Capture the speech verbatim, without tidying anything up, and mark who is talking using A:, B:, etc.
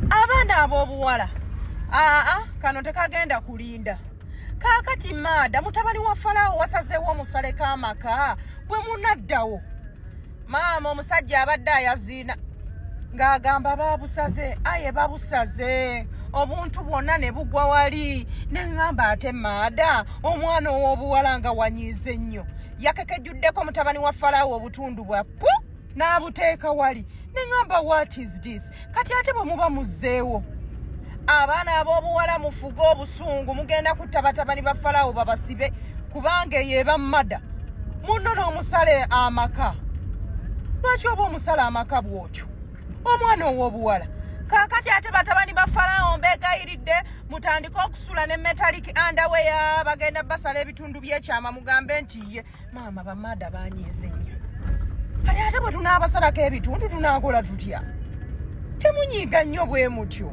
A: Abaana ab'obuwala, aa, kano tekagenda kulinda. Kaakati maada mutabani wa Falaawo wasazeewo omusaleko amaka bwe munaddawo. Maama, omusajja abadde ayaziina ng'agamba babusaze, aye babusaze obuntu bwonna ne bugwa wali. Ne ŋŋamba, ate maada omwana ow'obuwala nga wanyiize nnyo, yakekejjuddeko mutabani wa Falaawo obutundu bwa pu n'abuteeka wali. Ne ŋŋamba, "What is this?" Kati ate bwe muba muzzeewo, abaana ab'obuwala, mufuge obusungu, mugenda kutta batabani ba Falaawo babasibe, kubanga eyo eba mada munno n'omusale amaka. Lwaki oba omusala amaka bw'otyo omwana ow'obuwala? Kaakati ate batabani ba Falaawo, mbeegayiridde mutandike okusula ne metallic underwear. Bagenda basala ebitundu by'ekyama, mugambe nti ye maama bamaada banyiize nnyo. Kati ate bwe tunaabasalako ebitundu, tunaakola tutya? Temunyiiga nnyo bwe mutyo.